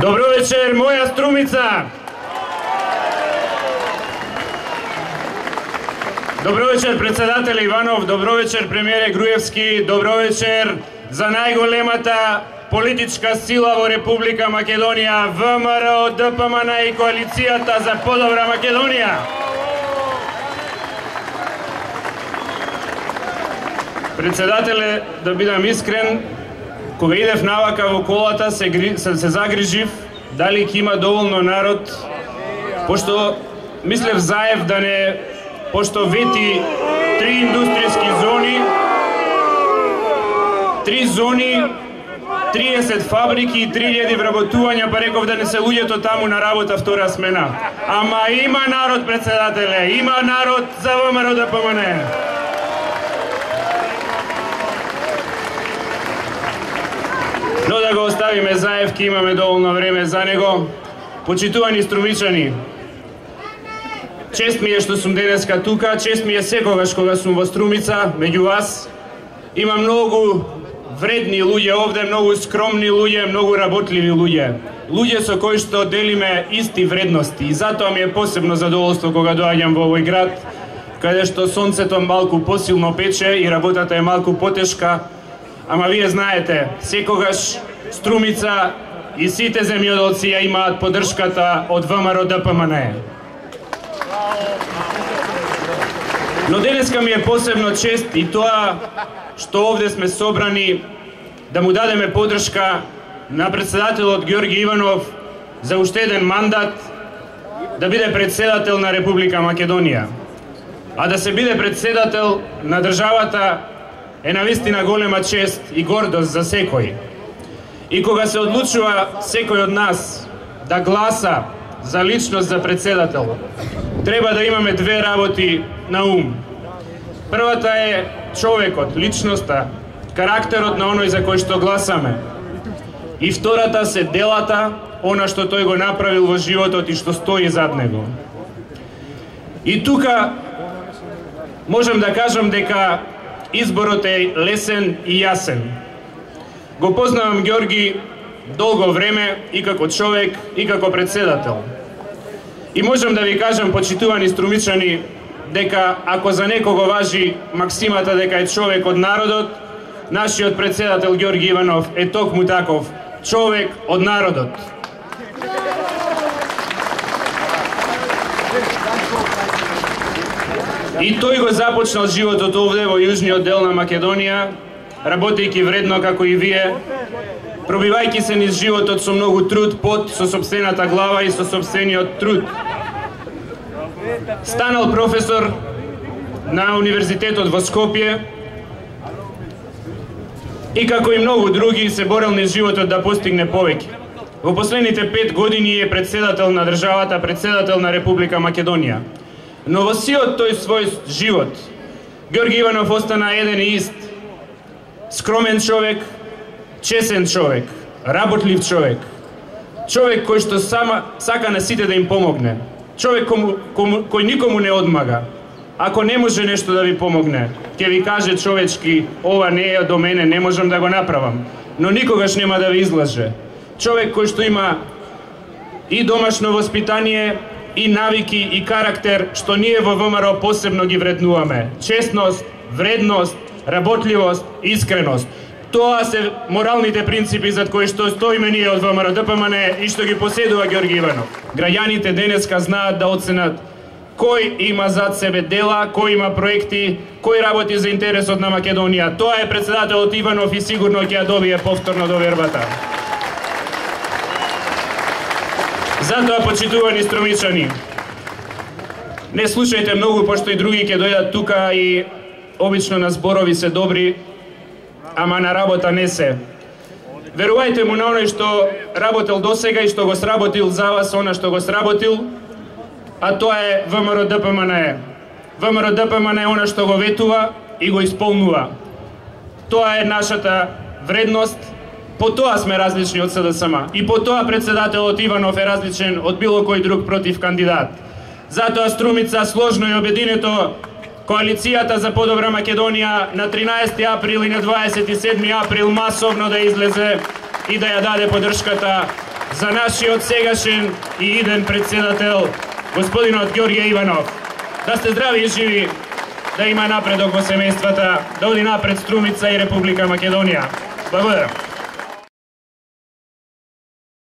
Добро вечер, моја Струмица! Добро вечер, председател Иванов, добро вечер, премиере Груевски, добро вечер за најголемата политичка сила во Република Македонија, ВМРО, ДПМН и Коалицијата за подобра Македонија. Председателе, да бидам искрен, кога идев навака во колата, се загрижив дали ќе има доволно народ, пошто мислев Заев да не, пошто вети 3 индустријски зони, 3 зони, 30 фабрики и 3000 вработувања, па реков да не се луѓето таму на работа втора смена. Ама има народ, председателе, има народ за ВМРО ДПМН. Но да го оставиме Заев, ке имаме доволно време за него. Почитувани струмичани, чест ми е што сум денеска тука, чест ми е секогаш кога сум во Струмица, меѓу вас. Има многу вредни луѓе овде, многу скромни луѓе, многу работливи луѓе. Луѓе со кои што делиме исти вредности. И затоа ми е посебно задоволство кога доаѓам во овој град, каде што сонцето малку посилно пече и работата е малку потешка. Ама вие знаете, секогаш Струмица и сите земјоделци ја имаат поддршката од ВМРО ДПМН. Но денеска ми е посебно чест и тоа што овде сме собрани да му дадеме поддршка на председателот Ѓорги Иванов за уште еден мандат да биде председател на Република Македонија. А да се биде председател на државата е навистина голема чест и гордост за секој. И кога се одлучува секој од нас да гласа за личност за председател, треба да имаме две работи на ум. Првата е човекот, личноста, карактерот на оној за кој што гласаме. И втората се делата, она што тој го направил во животот и што стои зад него. И тука можам да кажам дека изборот е лесен и јасен. Го познавам Ѓорги долго време и како човек и како председател. И можам да ви кажам, почитувани струмичани, дека ако за некого важи максимата дека е човек од народот, нашиот председател Ѓорги Иванов е токму таков, човек од народот. И тој го започнал животот овде во јужниот дел на Македонија, работејќи вредно како и вие, пробивајќи се низ животот со многу труд, пот, со сопствената глава и со сопствениот труд. Станал професор на Универзитетот во Скопје и како и многу други се борел низ животот да постигне повеќе. Во последните 5 години е председател на државата, председател на Република Македонија. Но во сиот тој свој живот, Ѓорги Иванов остана еден и ист. Скромен човек, чесен човек, работлив човек. Човек кој што сака на сите да им помогне. Човек кој никому не одмага. Ако не може нешто да ви помогне, ќе ви каже човечки, ова не е до мене, не можам да го направам. Но никогаш нема да ви излаже. Човек кој што има и домашно воспитание, и навики, и карактер, што ние во ВМРО посебно ги вреднуваме. Честност, вредност, работливост, искреност. Тоа се моралните принципи зад кои што стоиме ние од ВМРО ДПМН и што ги поседува Ѓорги Иванов. Граѓаните денеска знаат да оценат кој има зад себе дела, кој има проекти, кој работи за интересот на Македонија. Тоа е председателот Иванов и сигурно ќе ја добие повторно довербата. Затоа, почитувани струмичани, не слушајте многу, пошто и други ќе дојдат тука и обично на зборови се добри, ама на работа не се. Верувајте му на оној што работел досега и што го сработил за вас, она што го сработил, а тоа е ВМРО ДПМН. ВМРО ДПМН е она што го ветува и го исполнува. Тоа е нашата вредност. По тоа сме различни од СДСМ. И по тоа председателот Иванов е различен од било кој друг против кандидат. Затоа Струмица сложно и обединето Коалицијата за подобра Македонија на 13 април и на 27 април масовно да излезе и да ја даде поддршката за нашиот сегашен и иден председател, господинот Ѓорѓе Иванов. Да сте здрави и живи, да има напредок во семејствата, да оди напред Струмица и Република Македонија. Благодарам.